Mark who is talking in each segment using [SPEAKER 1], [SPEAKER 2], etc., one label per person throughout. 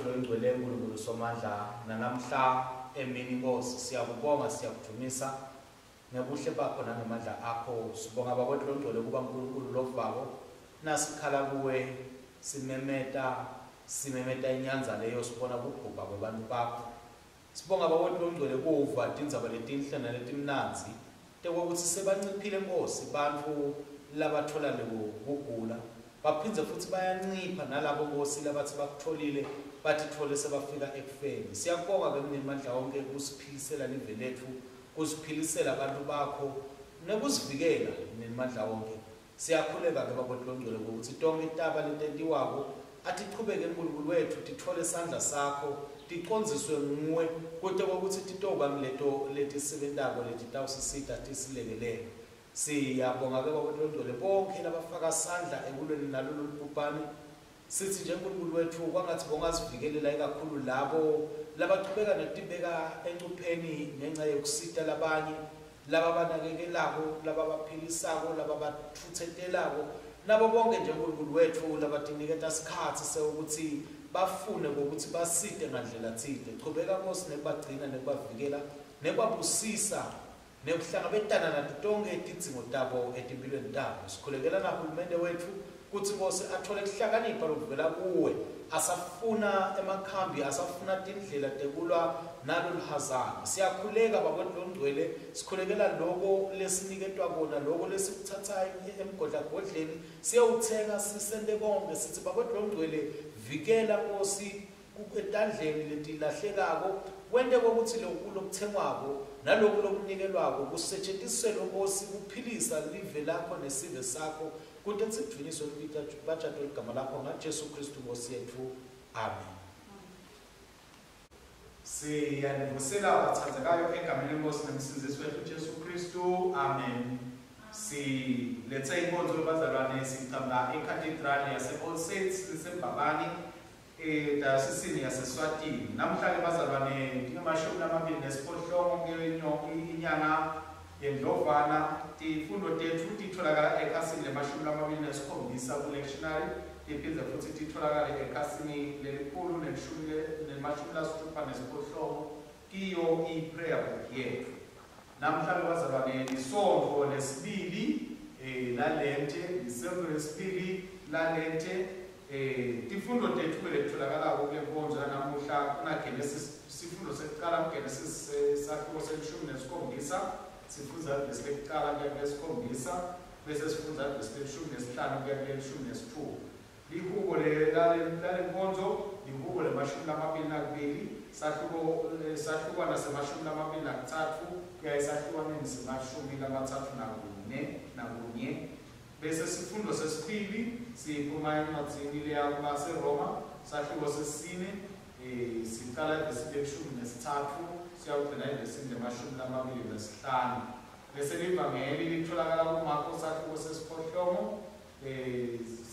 [SPEAKER 1] wetfu longcwele uNkulunkulu Somandla, nanamhla emini Nkosi siyakubonga, siyakudumisa ngebuhle bakho nangemandla akho. Sibonga Baba wetfu longcwele kuba uNkulunkulu lovako, nasikhala kuwe simemeta, simemeta inyanza leyo sibona kubhubha kwebantu bakho. Sibonga Baba wetfu longcwele kuva tindzaba letinhle naletimnandzi tekwekutsi sebanciphile Nkosi bantfu labathola lokugula, baphindze futsi bayancipha nalabo Nkosi labatsi bakutfolile batitfole sebafika ekufeni. Siyakubonga ke Mninimandla wonke kusiphilisela live letfu, kusiphilisela bantu bakho nekusivikela Mninimandla wonke. Siyakhuleka ke Baba wetfu longcwele kwekutsi tonkhe taba letentiwako atichubeke Nkulunkulu wetfu, titfole sandla sakho, ticondziswe nguwe kute kwekutsi titoba ngileto letisebentako letitawusisita tisilekelele. Siyabonga ke Baba wetfu longcwele bonkhe labafaka sandla ekulweni nalolu lubhubhane. Sitsi nje Nkulunkulu wetfu kwangatsi bongasivikelela ikakhulu labo labachubeka nekutibeka encupheni ngenca yekusita labanye, lababanakekelako, lababaphilisako, lababatfutsetelako, nabo bonke nje Nkulunkulu wetfu labatiniketa sikhatsi sewukutsi bafune kwekutsi basite ngandlela tsite. Chubeka Nkosi nekubagcina nekubavikela nekubabusisa nekuhlangabetana nato tonkhe tidzingo tabo etimphilweni tabo. Sikhulekela nahulumende wetfu kutsi Nkosi atfole kuhlakanipha lokuvela kuwe, asafuna emakhambi, asafuna tindlela tekulwa naloluhazana. Siyakhuleka Baba wetfu longcwele, sikhulekela loko lesiniketwa kona, loko lesikuthatsa emgodlagodleni siyewutsenga sisente konke. Sitsi Baba wetfu longcwele, vikela Nkosi etandleni letilahlekako, wente kwekutsi loku lokutsengwako naloku lokunikelwako kusetjentiselwe Nkosi kuphilisa live lakho nesive sakho, kute sidvunyiswe batjatwe ligama lakho ngaJesu Kristu Nkosi yetfu. Amen. Siyanivusela batsandzekayo egameni leNkosi nemsindzisi wetfu Jesu Kristu. Amen. Silethe inkonzo yebazalwane siqhamuka eCathedral yase All Saints leseMbabane edayosisini yaseSwatini. Namhla ke bazalwane tinge-28 inyanga yeNdlovana. Tifundo tetfu titholakala ekhasini le-27 ku-lectionary, tiphindze futsi titholakale ekhasini le-168 kiyo i-prayer book yetfu. Namhla ke bazalwane lisontfo lesibili lalente, lisontfo lesibili lalente. Tifundo tetfu ke letitholakalako kule nkonzo yanamuhla kuna Genesis, sifundo sekucala kuGenesis sahluko se-17, sifundza vesi lekucala kuya kulesikhombisa, bese sifundza vesi le-15 kuya kule-16. Lihubo lalenkonzo lihubo le-22, sahluko sahlukwana se-23 kuya esahlukwaneni se-34. Bese sifundo sesibili siphuma encwadzini leya kubaseRoma, sahluko sesine, siqala evesini le-13 siyawugcina evesini le-25. Bese livangeli litholakala kuMarko sahluko sesiphohlongo,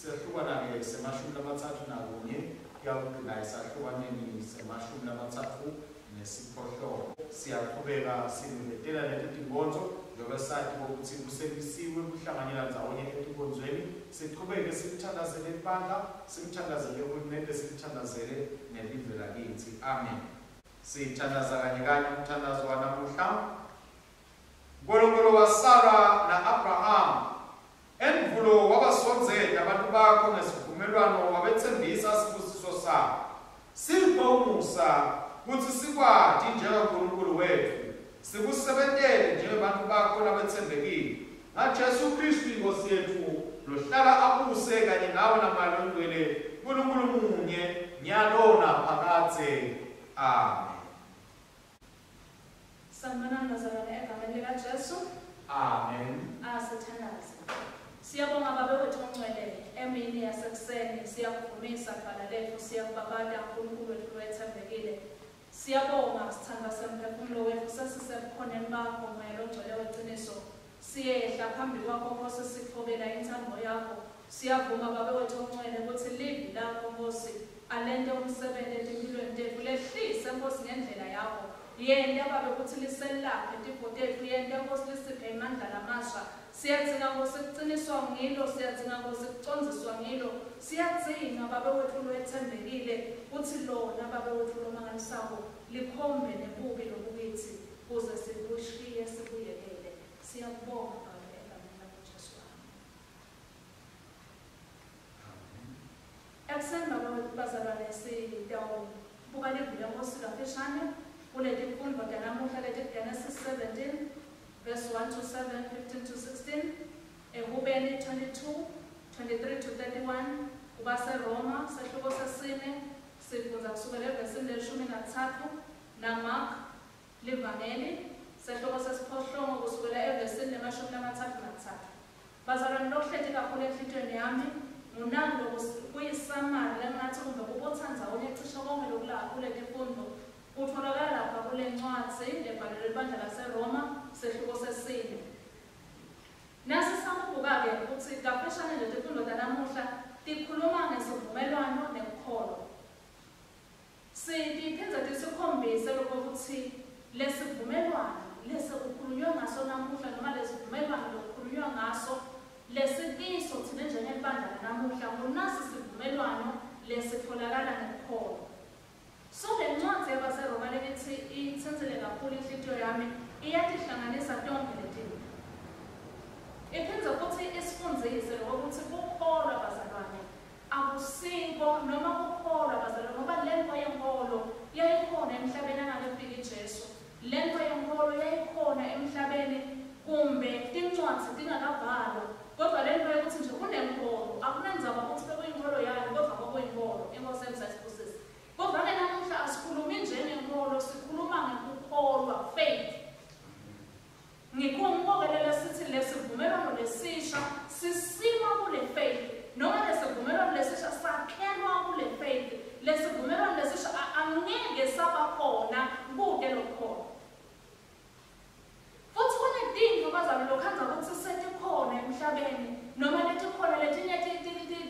[SPEAKER 1] sehlukwana-ke se-31 kuyawugcina esahlukwaneni se-38. Siyaqhubeka simemetela leti tinkonzo njengoba sati ukuthi kusemisiwe kuhlanganyela ndzawonye etinkonzweni. Sichubeke simthandazele ibandla, simthandazele uhulumende, simthandazele nelive lakithi. Amen. Sithandaza kanye kanye umthandazo wanamuhla. Nkulunkulu waSara na-Abraham, endvulo wabasondzeta abantu bakho ngesivumelwano, wabetsembisa sibusiso sakho. Siphe umusa kutsi sikwati njengaNkulunkulu wetfu, sikusebentele njengebantu bakho labetsembekile. NgaJesu Kristu iNkosi yetfu, lohlala abuse kanye nawe naMoya Longcwele, Nkulunkulu munye, nyalo naphakadze. Amen.
[SPEAKER 2] Sanibonani bazalwane egameni likaJesu.
[SPEAKER 1] Amen.
[SPEAKER 2] Asithandaze. Siyabonga Babe wethu ongcwele, emini yasekuseni siyakuvumisa Dvwala letfu, siyakubabata Nkulunkulu wetfu lowetsembekile. Siyabonga sithandwa semphefumulo wetfu, sesisebukhoneni bakho Moya longcwele weciniso. Siyehla phambi kwakho Nkosi, sitfobela intsandvo yakho. Siyavuma Babe wethu ongcwele kutsi livi lakho Nkosi alente umsebenti etimphilweni tetfu. Lehlise Nkosi ngendlela yakho. Yenta Babe kutsi liselaphe tifo tetfu, yenta Nkosi lisiphe emandla lamasha. Siyadzinga Nkosi kuciniswa ngilo, siyadzinga Nkosi kucondziswa ngilo. Siyadzinga Babe wetfu lowetsembekile kutsi lona Babe wetfu lomangalisako likhombe nebubi lobukitsi kuze sibushiye sibuyekele. Siyakubonga Babe egameni lakho Jesu.
[SPEAKER 1] Amen.
[SPEAKER 2] Ekuseni Babe wetfu bazalwane sitawubuka livi leNkosi kafishane kuletifundvo tanamuhla leti Genesis 17 verse 1 to 7, 15 to 16, Ehubeni 22, 23 to 31, kubaseRoma sehluko sesine sifundza kusukela evesini leshumi natsatfu, naMark livangeli sehluko sesiphohlongo kusukela evesini lemashumi lamatsatfu natsatfu. Bazalwane, lokuhleti kakhulu enhlitiyweni yami ngunangu kuyi-summary lengathi kumbe kubotsandzawonye cishe konke lokula kuletifundvo kutfolakala lapha kule ncwadzi lebhalelwe libandla laseRoma sehluko sesine. Nasi sakubuka-ke kutsi kafishane nje tifundvo tanamuhla tikhuluma ngesivumelwano nekukholwa. Sitiphindze tisikhombise lokho kutsi lesivumelwano lesekukhulunywe ngaso namuhla noma lesivumelwano lokukhulunywa ngaso lesikiso thina njengelibandla lanamuhla ngunasi sivumelwano lesitfolakala ngekukholwa. So le ncwadzi yabaseRoma lengithi itsintsile kakhulu inhlitiyo yami iyatihlanganisa tonkhe letintfo. Iphindze futhi isifundzise lokuthi kukholwa bazalwane akusiko noma kukholwa bazalwane ngoba lento yenkolo yayikhona emhlabeni angakefiki Jesu. Lento yenkolo yayikhona emhlabeni kumbe tincwadzi tingakabhalwa, kodwa lento yokuthi nje kunenkolo akunandzaba ukuthi bekuyinkolo yani, kodwa kwakuyinkolo. Inkosi emsayisibusise. Kodwa-ke namuhla asikhulumi njengenkolo, sikhuluma ngekukholwa, faith. Ngikho sithi lesivumelwano lesisha sisima kule faith, noma lesivumelwano lesisha sakhelwa kule faith. Lesivumelwano lesisha angeke saba khona kude lokukholwa. Futhi kunetintfo bazalwane lokhandza kutsi setikhona emhlabeni noma letikhona letinye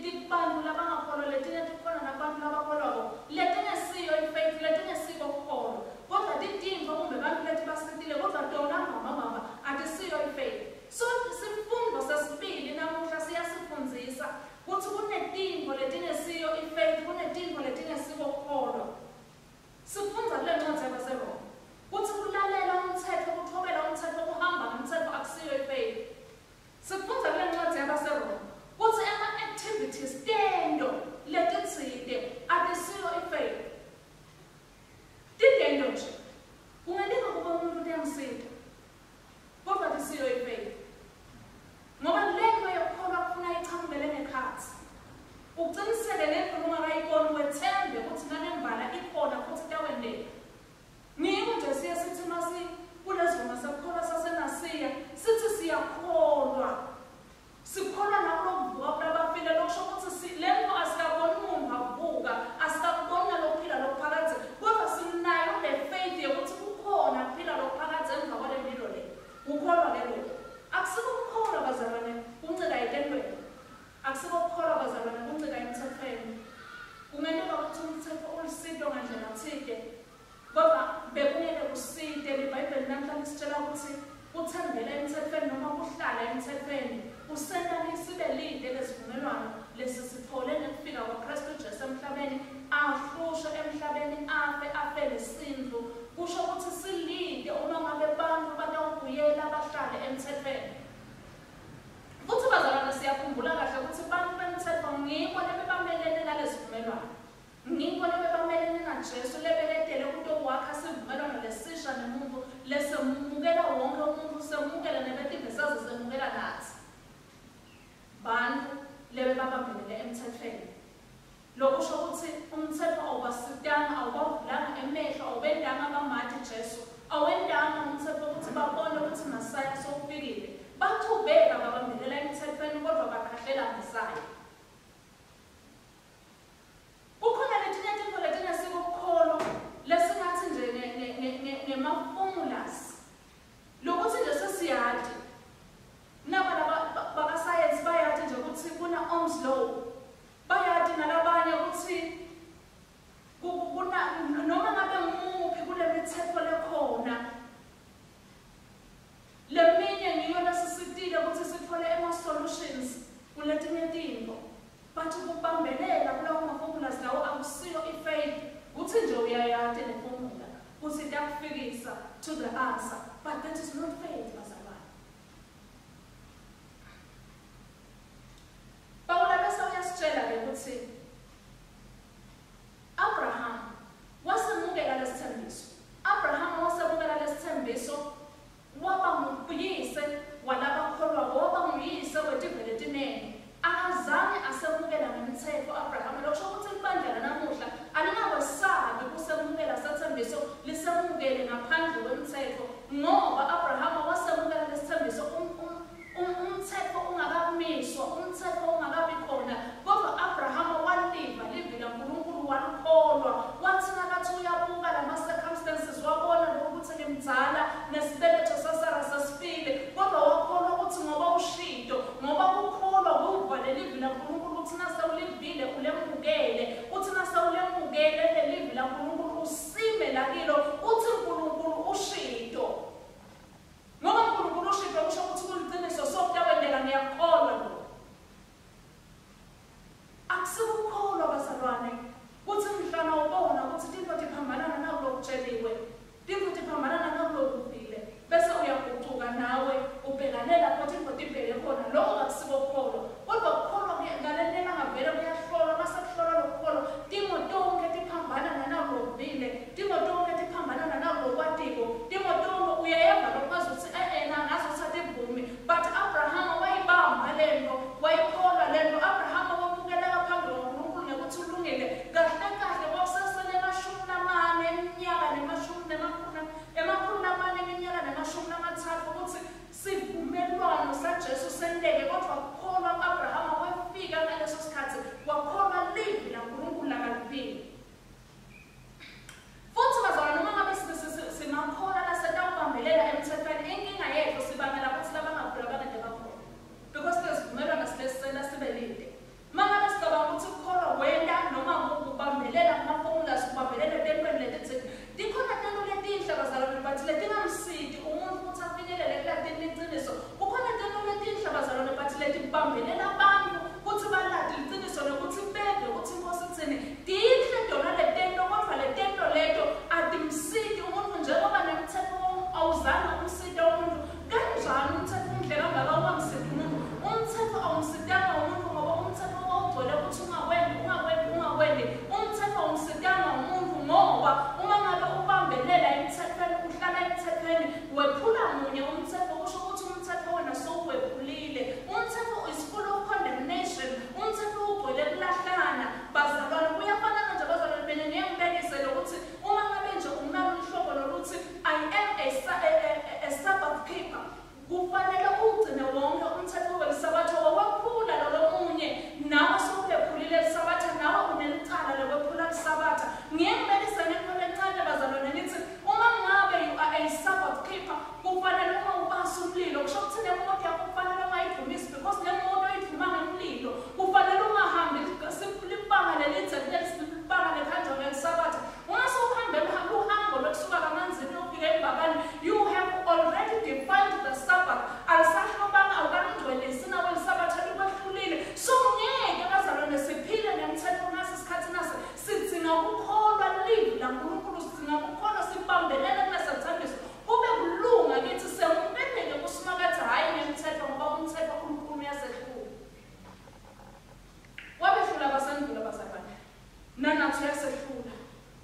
[SPEAKER 2] tikubantu labangakholwa, letinye tikhona nakubantu labakholwako, letingesiyo i-faith, letingesiko kukholwa, kodwa titintfo kumbe bantfu letibasitile, kodwa tona mbamba atisiyo i-faith. So sifundo sesibili namuhla siyasifundzisa kutsi kunetintfo letingesiyo i-faith, kunetintfo letingesiko kukholwa. Sifundza kule ncwadzi yabaseRoma kutsi kulalela umtsetfo, kuthobela umtsetfo, kuhamba ngemtsetfo akusiyo i-faith. Sifundza kule ncwadzi yabaseRoma kutsi ema-activities, tento letitsite atisiyo i-faith. Titento nje kungenteka kuba umuntu tiyamsita, kodwa atisiyo i-faith, ngoba lento yekukholwa kufuna ichamukele ngekhatsi, uciniseke ngento ungakayiboni, wethembe kutsi nanembala ikhona futhi itawenteka. Ngiko nje siye sithi masi kulezivuma sekukholwa sasenasiya sithi siyakholwa, sikholwa nakulokuvuka kulabafile, lokusho kutsi lento asikaboni umuntu avuka, asikakuboni nalokuphila lokuphakadze, kodwa sinayo le faith yokuthi kukhona kuphila lokuphakadze emva kwale mpilo le. Kukholwa ke lokho. Akusiko kukholwa bazalwane kuncika etentweni, akusiko kukholwa bazalwane kuncika emtsetfweni. Kungenteka kutsi umtsetfo ulisito ngandlela tsite, kodwa bekungeke kusite. LiBhayibheli namhla lisitshela kutsi kuthembela emtsetfweni noma kuhlala emtsetfweni kusenta sibe lide lesivumelwano lesisitfole ngekufika kwaKristu Jesu emhlabeni, ahlushwe emhlabeni, afe afele sintfu. Kusho kutsi silide uma ngabe bantfu batawubuyela bahlale emtsetfweni. Futhi bazalwane siyakhumbula kahle kutsi bantfu bemtsetfo ngibo lebebamelene nalesivumelwano, ngibo lebebamelene naJesu lebeketele kutokwakha sivumelwano lesisha nemuntfu lesemukela wonke umuntu, semukela nebetive saze semukela natsi. Bantfu lebebabambelele emtsetfweni, lokusho kutsi umtsetfo awubasitanga, awubavulanga emehlo, awubentanga bamati Jesu, awentanga umtsetfo kutsi babone kutsi Masaya sowufikile. Bachubeka babambelela emtsetfweni, kodwa bakhahlela Mesaya. Kukhona letinye tintfo letingesiko kukholwa lesingathi nje ngema-formulas lokuthi nje sesiyati. Naba laba bakasayensi bayati nje kutsi kuna Ohm's law, bayati nalabanye kutsi kuna noma ngabe ngumuphi kule mitsetfo lekhona. Le itakufikisa to the answer, but that is not faith, bazalwane. Pawula bese uyasitshela-ke ukuthi Abraham wasemukela lesithembiso. Abraham wasemukela lesithembiso, waba nguyise walabakholwako, waba nguyise wetive letinengi. Akazange asemukela ngemtsetfo Abraham. Lokusho ukuthi libandla lanamuhla alingakwesabi kusemukela sethembiso, lisemukele ngaphandle kwemtsetfo, ngoba Abraham wasemukela lesithembiso umtsetfo ungakamiswa, umtsetfo ungakabi khona. Kodwa Abraham waliva livi laNkulunkulu, walikholwa. Wathi nakathi uyabuka lama-circumstances, wabona lokuthi ngimdzala nesibeletho saSara sesifile, kodwa wakholwa ukuthi ngoba ushito, ngoba kukholwa kuva lelivi laNkulunkulu, uthi nasewulivile ulemukele, uthi nasewulemukele lelivi laNkulunkulu usime lakilo, uthi uNkulunkulu ushito. Ngoba uNkulunkulu ushito kusho ukuthi kuliciniso, so kutawenteka, ngiyakholwa lokho. Akusikukholwa bazalwane kuthi mhlana ubona ukuthi tintfo tiphambana nakulokutsheliwe, tintfo tiphambana nakulokuvile, bese uyagucuka nawe ubhekane lapho tintfo tibheke khona. Lokho akusiko kukholwa. Kodwa kukholwa ngaleli langa vele kuyahlolwa. Mase kuhlolwa lokukholwa, timo tonkhe tiphambana nakulokuvile, timo tonkhe tiphambana nanakulokwatiko, timo tonkhe uyayeva lokwazi ukuthi e-e ngazi ukuthi ativumi. But Abrahama wayibamba lento, wayikholwa lento. Abrahama wamukeleka phambi kwaNkulunkulu ngekuthi ulungile. Kahle kahle kwakusasele 40 eminyaka 400 eminyaka ne-30 ukuthi sivumelwano saJesu senteke, kodwa kukholwa Abrahama wefika ngaleso sikhathi, wakholwa livi laNkulunkulu lakalivile. Futhi bazalwane, noma ngabe simakholwa lasetawubambelela emthethweni, inkinga yethu sibangela ukuthi labangakhula bangente bakhona, because lesivumelwano silesisenta sibe lide. Uma ngabe sicabanga ukuthi kukholwa wenta noma kubambelela kuma-formulas, kubambelela etentweni letitsite, tikhona tento letinhle bazalwane, but letingamsiti umuntu ukuthi afinyelele kulatini liciniso. Kukhona tento letinhle bazalwane, but letibambelela abantu kutsi balati liciniso nokuthi beve ukuthi inkosi itsini. Tinhle tona letento, kodvwa letento leto atimsiti umuntu, njengoba nemtsetfo awuzange umsite umuntu. Kanjani umtsetfo umhle kangaka ungamsiti umuntu? Umtsetfo awumsitanga umuntu, ngoba umtsetfo wawugcwele ukuthi ungakwendi, ungakwendi, ungakwendi. Umtsetfo awumsitanga umuntu, ngoba uma ngabe ubambelela emtsetfweni, uhlala emtsetfweni, wephula munye umtsetfo, kusho ukuthi umtsetfo wena sowuwephulile. Umtsetfo is full of condemnation. Umtsetfo ugcwele kulahlana bazalwane. Kuyafanana nje bazalwane, mina ngiye ngibekise lokuthi uma ngabe nje unalo uhlobo loluthi I am a Sabbath keeper, kufanele ugcine wonke umthetho welisabatha. Wawephula lolo munye, nawe sowulephulile lisabatha, nawe unelicala lekwephula lisabatha. Ngiye ngibekise ngento lencane bazalwane, ngithi uma ngabe you are a Sabbath keeper, kufanele uma ubasa umlilo, kusho ukuthi nemoto yakho kufanele ungayidumisi, because nemoto iduma ngemlilo. Kufanele ungahambi libanga lelidze libanga lekhanjwa ngelisabatha. Uma sewuhambe luhambo lwekusuka kaManzini uyofika eMbabane, you have already defiled the Sabbath. Alisahlobanga, awukalingcwelisi nawe, lisabatha likwehlulile. So ngeke bazalwane siphile nemthetho nasi isikhathi nasi. Sidzinga ukukholwa livi laNkulunkulu, sidzinga ukukholwa sibambelele kulesethembiso, kube kulunga kithi, semukeleke kuSimakadze, hhayi ngemthetho, ngoba umthetho ulukhuni, uyasehlula. Wabehlula abasandula bazalwane, nanathi uyasehlula.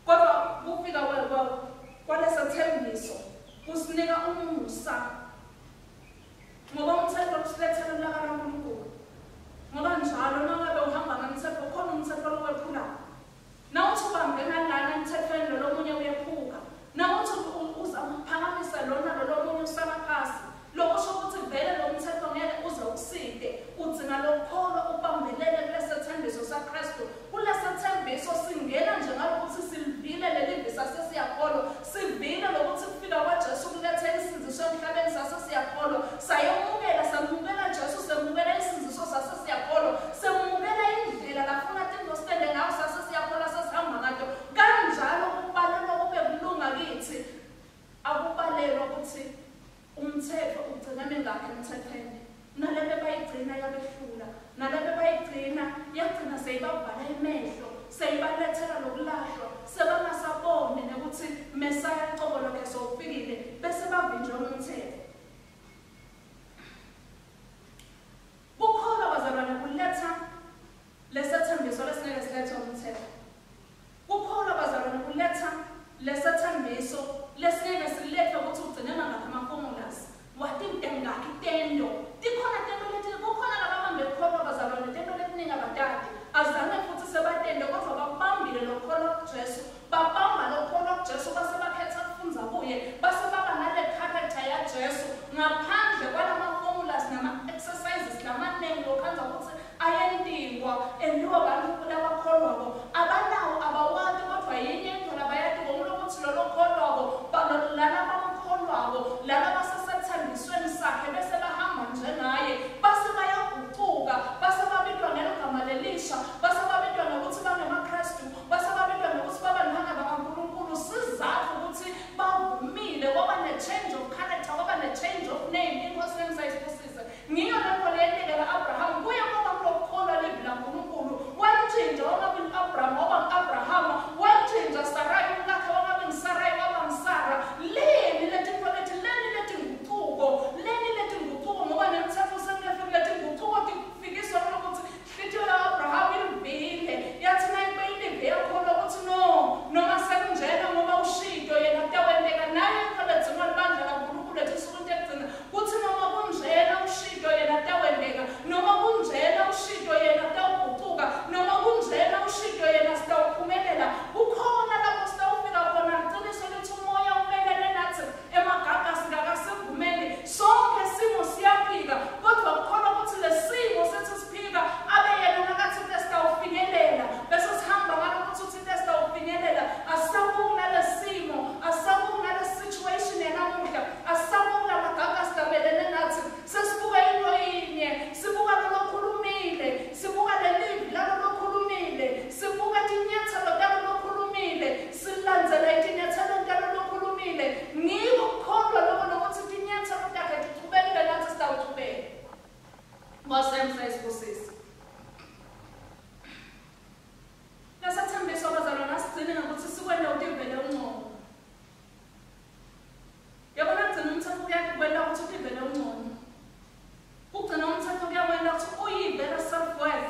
[SPEAKER 2] Kodwa kufika kwalesethembiso kusinika umusa, ngoba umthetho usilethela ulaka laNkulunkulu, ngoba njalo uma ngabe uhamba ngemthetho, khona umthetho lowephulayo. Nawuthi ubambe ngalana emthethweni, lolo munye uyephuka. Nawuthi uzama ukuphakamisa lona, lolo munye usala phasi. Lokusho ukuthi vele lo mthetho ngeke uze ukuside. Udzinga lokukholwa, ubambelele kulesethembiso saKristu. Kulesethembiso singena nje ngalokuthi silivile lelivi, sasesiyakholwa. Sivile lokuthi kufika kwaJesu kulethe insindziso emhlabeni, sasesiyakholwa. Sayemukela, samukela Jesu, semukela insindziso, sasesiyakholwa. Semukela indlela lafuna tintfo sitende ngayo, sasesiyakholwa, sesihamba ngato. Kanjalo kubalelwa kube kulunga kithi. Akubalelwa ukuthi umthetho ugcina mingakhi emthethweni. Nalebe bayigcina yabehlula, nalebe bayigcina yagcina seyibavala emehlo. Seyibalethela lokulahlwa, sebangasaboni nekuthi Mesaya cobo lwakhe sowufikile, bese bavinjwe umthetho. Kukholwa bazalwane kuletha lesethembiso lesingeke silethwe umthetho. Kukholwa bazalwane kuletha lesethembiso lesingeke silethwe ukuthi ugcine mangakhi ama-formulas, watinte ngakhi tento. Tikhona tento leti, kukhona lababambe kukholwa bazalwane, tento letiningi abatati. Azange futhi sebatente kodwa bakubambile lokukholwa kuJesu. Babamba lokukholwa kuJesu base bakhetha kufundza kuye, base baba nale character yaJesu ngaphandle kwalama-formulas nama-exercises lamaningi lokhandza ukuthi ayentiwa entiwa bantfu labakholwako. Abanawo, abawati, kodwa yinye into labayatiko ngulokuthi lolo kholwako, lana bamkholwako, lana basesethembisweni sakhe bese bahamba njengaye, base bayagucuka, base babitwa ngeligama lelisha, base babitwa ngekuthi bangemaKrestu, base babitwa ngekuthi babantwana bakaNkulunkulu. Sizatfu ukuthi bavumile, kwaba ne-change of character, kwaba ne-change of name. Inkosi yami sayisibusise. Ngiyo lento leyenteka la-Abraham, kuye kwaba kulokukholwa livi laNkulunkulu. Wantshintsha wangabi ngu-Abraham, waba ngu-Abrahama. Wantshintsha Sarai umkakhe, wangabi nguSarai, waba nguSara. Leni letinto leti, leni letingucuko, leni letingucuko, ngoba nemthetho sengefiki. Letingucuko tifikiswa kulokuthi inhlitiyo ya-Abraham ilivile, yathi nayibe ilive yakholwa ukuthi no, noma sekunjena ngoba ushito yena kutawenteka. Nayo intfo ledzingwa libandla laNkulunkulu etinsukwini tekugcina kutsi noma kunjena ushito yena kutawenteka, noma kunjena ushito yena kutawugucuka, noma kunjena ushito yena sitawuphumelela. Kukhona lapho sitawufika khona, liciniso lithi umoya umelene nathi, emagagasi kakasivumeli. Sonke simo siyaphika, kodwa kukholwa ukuthi lesimo sethi siphika abe yena nakathi sitawufinyelela, bese sihamba ngalokuthi uthi sitawufinyelela. Asisabuki nalesimo, asisabuki nale situation yanamuhla, asisabuki lamagagasi lamelene nathi, sesibuka into yinye, sibuka lolokhulumile, sibuka lelivi lalolokhulumile, sibuka tinyathelo talolokhulumile, silandzela etinyathelweni talolokhulumile. Ngiko kukholwa loko lokuthi tinyathelo takhe tichubekile, nathi sitawuchubeka. Nkosi yami sayisibusise. Lesethembiso bazalwane asigcine ngekuthi sikwente utivele ungcono. Yabona, kugcina umthetho kuyakwenta ukuthi utivele ungcono. Kugcina umthetho kuyakwenta ukuthi uyivele self-worth.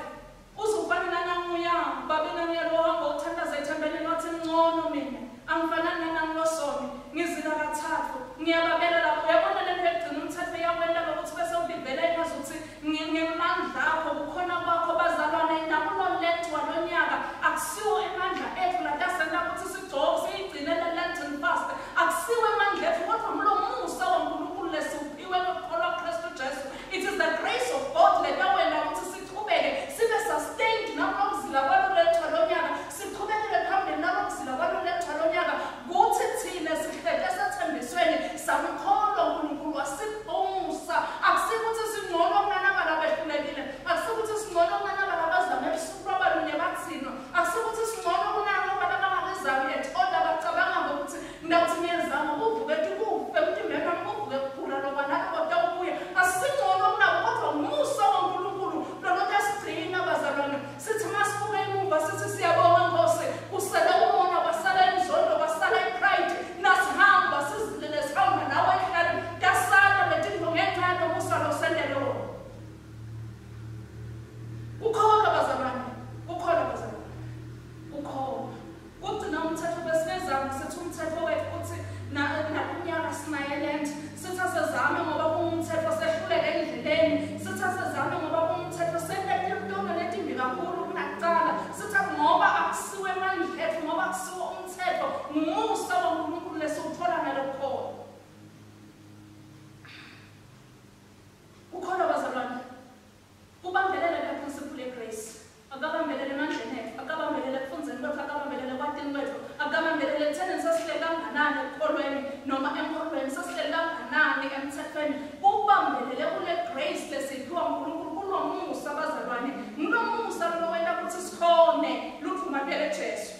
[SPEAKER 2] Uzufana nananguya, babe nanguya lo hamba uthandaza ethempelini wathi ngcono mina, angifanani nanangilosoni, ngizila kathathu, ngiyababela lapho. Uyabona, lento yokugcina umthetho iyakwenta lokuthi bese utivela engazuthi ngemandla akho, kukhona kwakho. Bazalwane, nakulo Lent walonyaka akusiwo emandla ethu latasenta ukuthi sigcoke siyigcine le Lenten fast, akusiwo emandla ethu, kodwa ngulomusa waNkulunkulu lesiwuphiwe ngokukholwa Kristu Jesu. It is the grace of God letawenta ukuthi sichubeke sibe sustained nakulokuzila kwalo Lent walonyaka, sichubekele phambili nalokuzila kwalo Lent walonyaka, kuthi thine sihlete sethembisweni samkholwa uNkulunkulu wasipha umusa. Akusikuthi singcono kunanaba labehlulekile, akusikuthi singcono kunanaba labazama ebusuku lwabalunye bathinwa, akusikuthi singcono kunabo labangakazami at all, abacabanga ngokuthi ngidawuthi ngiyazama kuvuke kufe emtimbeni wami, kuvuke kugula lokwanaloko tawubuya. Asingcono kunabo, kodwa umusa waNkulunkulu lolotasigcina bazalwane. Sithi masibuke emuva sithi siyabonga Nkosi, kusele umona, kwasala inzondo, kwasala i-pride. Nasihamba sizilele sihamba nawe ehlale, tasala letinto ngenxa yalomusa losendele wona. Kukholwa bazalwane, kukholwa bazalwane, kukholwa kugcina umthetho. Besingezami sithi umthetho wethu uthi nakunyaka sinaye Lent, sithi asezame ngoba kungumthetho, sehluleke endleleni. Sithi asezame ngoba kungumthetho, sente tono letimbi kakhulu kunakucala. Sithi ngoba akusiwe emandla ethu, ngoba akusiwo umthetho, ngumusa waNkulunkulu lesiwuthola ngalokukholwa. Kukholwa bazalwane kubambelela le principle ye-grace, akabambelele emandleni ethu, akabambelele ekufundzeni kwethu, akabambelele ekwatini kwethu, akabambelele ekuthenini sesihleli kanganani ekukholweni noma enkholweni, sesihleli kanganani emthethweni. Kubambelele kule grace lesiyiphiwa uNkulunkulu, kulomusa bazalwane. Ngulomusa lowenta ukuthi sikhone luthuma phela Jesu.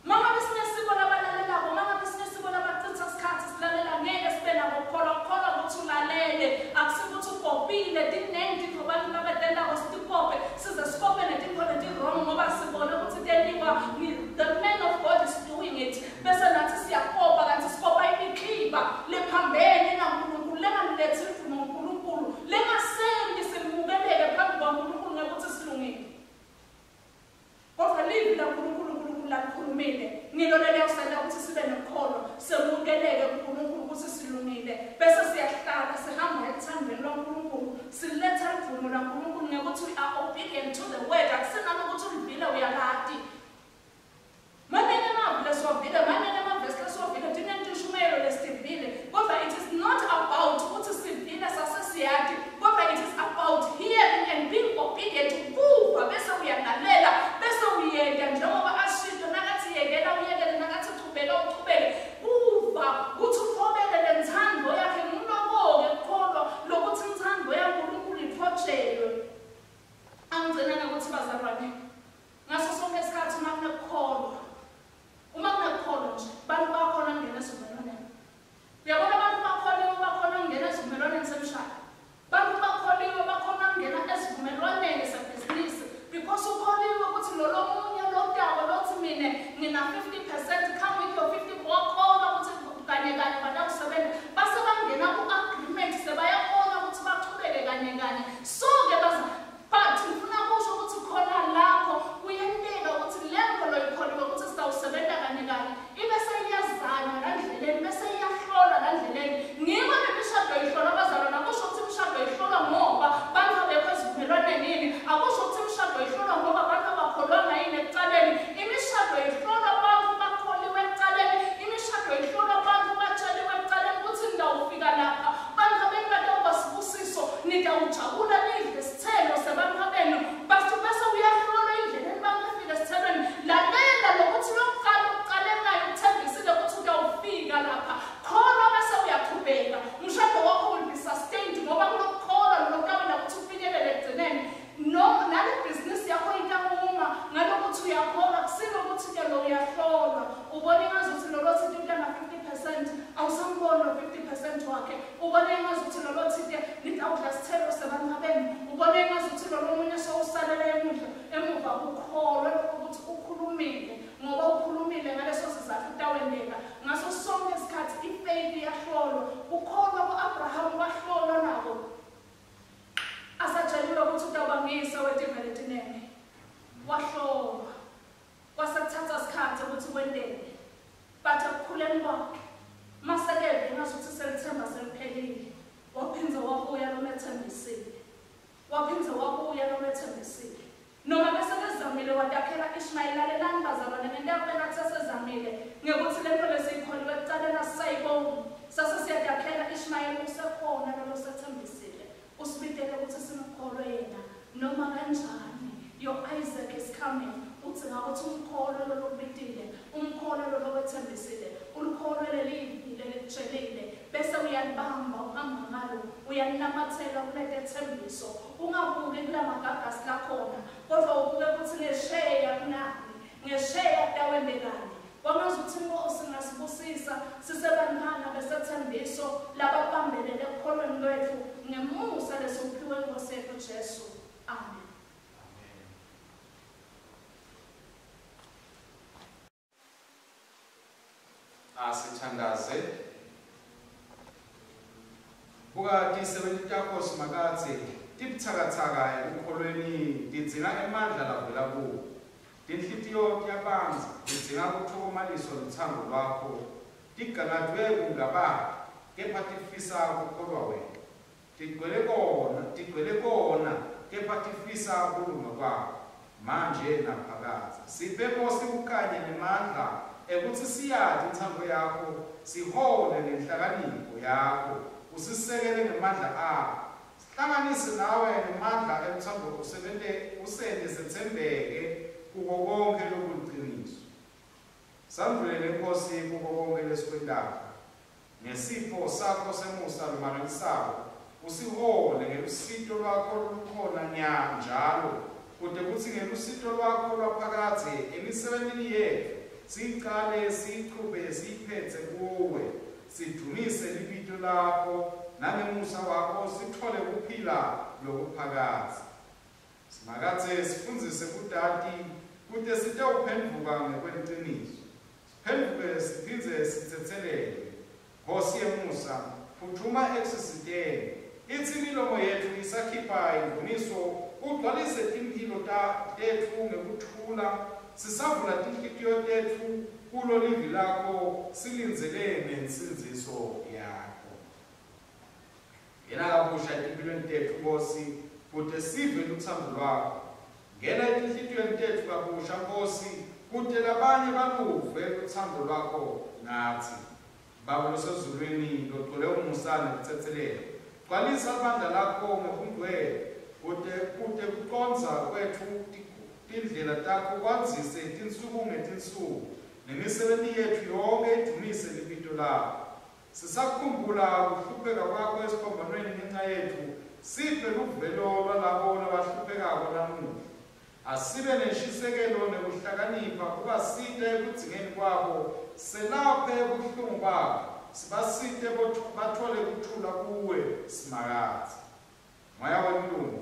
[SPEAKER 2] Mangabe sinesiko labalalelako, mangabe sinesiko labachitha isikhathi silalela, ngeke sibe nako kukholwa. Kukholwa ukuthi ulalele, akusikuthi ukopile. Tiningi tintfo abantu labetentako, sitikope size sikope netintfo leti-wrong ngoba ludumo lwaNkulunkulu ngekuthi we are obedient to the word. Akusinalokuthi ulivile uyalati. Manene emavi lesiwavile, manene emavesi lesiwavile, tinentishumayelo lesitivile, kodwa it is not about ukuthi sivile sasesiyati, kodwa it is about hearing and being obedient. Kuva bese uyalalela bese uyenda njengoba ashito nakathi yekela uyekele, nakathi chubeka uchubeke. Kuva kuthi uthobele lenthando yakhe, nguloko-ke kukholwa lokuthi inthando yaNkulunkulu ithotshelwe. Angigcina ngekuthi bazalwane, ngaso sonke isikhathi uma kunekukholwa, uma kunekukholwa nje, bantu bakhona kungena esivumelwaneni. Uyabona abantu bakholiwe bakhona kungena esivumelwaneni semshado. Bantu bakholiwe bakhona kungena esivumelwaneni sebhizinisi because ukholiwe ukuthi lo lomunye lotako lothi mina ngina 50%, come with your 50, wakholwa ukuthi kanye kanye batakusebenza. Base bangena ku-agreement, sebayakhona ukuthi bachubeke kanye kanye. So-ke but ngifuna kusho ukuthi khona lapho kuyenteka ukuthi lento loyikholiwe ukuthi sitawusebenza kanye kanye ibe seyiyazanywa la ndleleni, bese iyahlolwa la ndleleni. Ngiko nemishado ihlolwa bazalwane. Akusho ukuthi imishado ihlolwa ngoba bantu abekho esivumelwaneni yini, akusho ukuthi imishado ihlolwa ngoba abantu abakholwanga yini ekucaleni. Imishado ihlolwa abantu bakholiwe ekucaleni, imishado ihlolwa abantu batsheliwe ekucaleni ukuthi nitawufika lapha, bantu abenu batawuba sibusiso, nitawujabula nidle sithelo sebantu abenu. Bese uyahlolwa endleleni bangafika esithelweni. Lalela lokuthi lokuqala uqale nayo uthembisile ukuthi utawufika lapha, kholwa bese uyachubeka. Umshado wakho will be sustained ngoba kulokukholwa lokukabela ukuthi ufinyelele ekugcineni. No, nale bhizinisi yakho itakuma ngalokuthi uyakholwa, kusilo ukuthi-ke lo uyahlolwa. Ubona engazuthi lolo thithi utana 50%, awusamboni lo 50% wakhe. Ubona engazuthi lolo thithi nitawudla sithelo sebantu abenu. Ubona engazuthi lolo munye sowusalela emuva. Kukholwe lokho ukuthi ukhulumile, ngoba ukhulumile ngaleso sizathu kutawenteka. Ngaso sonke isikhathi ifaith iyahlolwa. Ukholwa ku-Abraham wahlolwa nako. Asatsheliwe ukuthi utawubangisa wetive letinene. Wahlolwa. Kwasekuthatha isikhathi ukuthi kwenteke. But ekukhuleni kwakhe, masekeve ngazuthi selithemba seliphelile, waphindze wabuya lomethembisile. Waphindze wabuya lomethembisile. Noma bese kezamile wadakhela Ishmael. Lalelani bazalwane, ngento yakubeka sesezamile ngekuthi lento lesiyikholiwe ekucaleni asisayibongi. Sase siyadakhela Ishmael, usekhona lolo sethembisile. Usibitele ukuthi simkholwe yena noma kanjani. Your Isaac is coming. Udzinga ukuthi umkholwe lolo kubitile, umkholwe lolo wethembisile, ulikholwe lelivi lelikutshelile, bese uyalibamba uhamba ngalo, uyalinamathela kulete thembiso. Ungabuki kula magagasi lakhona, kodwa ubuke ukuthi ngesheya kunani, ngesheya kutawendekani. Kwangazuthi inkosi ingasibusisa sisebantwana besethembiso lababambelele ekukholweni lwethu ngemusa lesiwuphiwe inkosi yethu Jesu. Amen.
[SPEAKER 3] Asithandaze. Buka tisebenti takho Simakadze tibuthakathaka ekukholweni, tidzinga emandla lavela kuwe. Tinhlitiyo tiyabandza, tidzinga kuthokomaliswa luthando lwakho. Tigangadvwe kungabata, kepha tifisa kukholwa wena. Tigcwele kona, kepha tifisa kulunga kwakho manje naphakadze. Siphe Nkosi ukanye nemandla ekuthi siyati inthando yakho, sihole ngenhlakanipho yakho, usisekele ngemandla akho. Sihlanganise nawe ngemandla emthando, usebente usente sethembeke kuko konke lokuliciniso. Sandulele Nkosi kuko konke lesikwentako. Ngesipho sakho semusa lomangalisako, usihole ngelusito lwakho lolukhona nya njalo, kute kutsi ngelusito lwakho lwaphakadze emisebentini yetfu siyicale, siyichube, siyiphetse kuwe, sidumise libito lakho, nangemusa wakho sitfole kuphila lokuphakadze. Simakadze sifundzise kutati kute sitewuphendvuka ngekweliciniso. Siphendvuke siphindze sitsetselelwe. Nkosi yemusa, phuthuma ekusisiteni. Itsi imilomo yetfu isakhipha imvumiso, ugcwalise timphilo tetfu ngekuthula, sisavula tinhlitiyo tetfu kulo livi lakho, silindzele nensindziso yakho. Yena kabusha etimpilweni tetfu Nkosi, kute sive lutsandvo lwakho. Ngena etinhlitiyweni tetfu kabusha, Nkosi, kute labanye baluve lutsandvo lwakho ngatsi. Baba losezulwini, logcwele umusa nekutsetselela, gcwalisa libandla lakho ngebungcwele, kute kucondza kwetfu tindlela takho kwandzise tinsuku ngetinsuku, nemisebenti yetfu yonkhe idvumise libito lakho. Sisakukhumbula kuhlupheka kwakho esiphambanweni ngenca yetfu, siphe luvelo lwalabo labahluphekako namuhla. Asibe nenshisekelo nekuhlakanipha kubasita ekudzingeni kwabo, selaphe buhlungu babo, sibasite batfole kuthula kuwe, Simakadze. Moya wekulunga,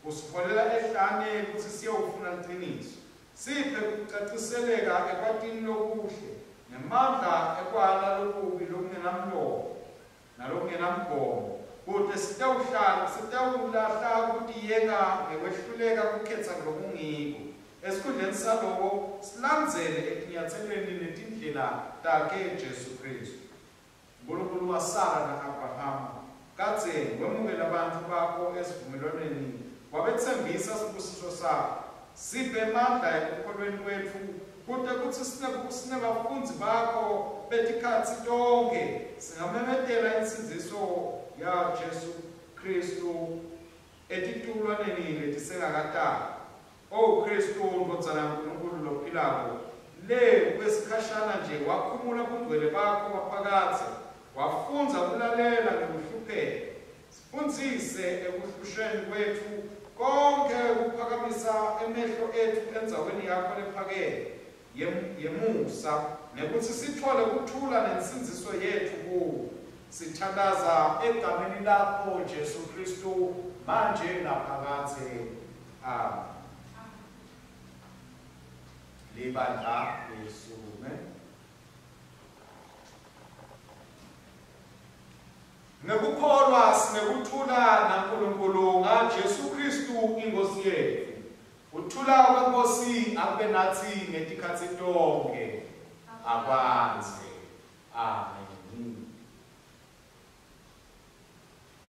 [SPEAKER 3] usiholela ehlane kutsi siyewufuna liciniso. Siphe kucaciseleka ekwatini lokuhle, nemandla ekwala lokubi lokungenamlomo nalokungenamgomo, kute sitewulahla kutiyenga ngekwehluleka kukhetsa lokungiko. Esikhundleni saloko, silandzele etinyatselweni netindlela takhe Jesu Khristu. Nkulunkulu waSara na-Abrahama, kadzeni wemukela bantfu bakho esivumelwaneni, wabetsembisa sibusiso sakho. Siphe emandla ekukholweni kwetfu, kute kutsi sinebafundzi bakho betikhatsi tonkhe singamemetela insindziso yaJesu Khristu etitukulwaneni letisengakatalwa. O Khristu, Ndvodzana yaNkulunkulu lophilako, le kwesikhashana nje wakhumula bungcwele bakho baphakadze, wafundza kulalela ngekuhlupheka. Sifundzise ekuhlushweni kwetfu konkhe kuphakamisa emehlo etfu endzaweni yakho lephakeme yemusa, nekutsi sitfole kuthula nensindziso yetfu kuwe. Sithandaza egameni lakho Jesu Khristu, manje naphakadze. Amen. Libandla lisukume. Ngekukholwa sinekuthula naNkulunkulu ngaJesu Khristu iNkosi yetfu. Kuthula kweNkosi akube natsi ngetikhatsi tonkhe. Akwandze. Amen.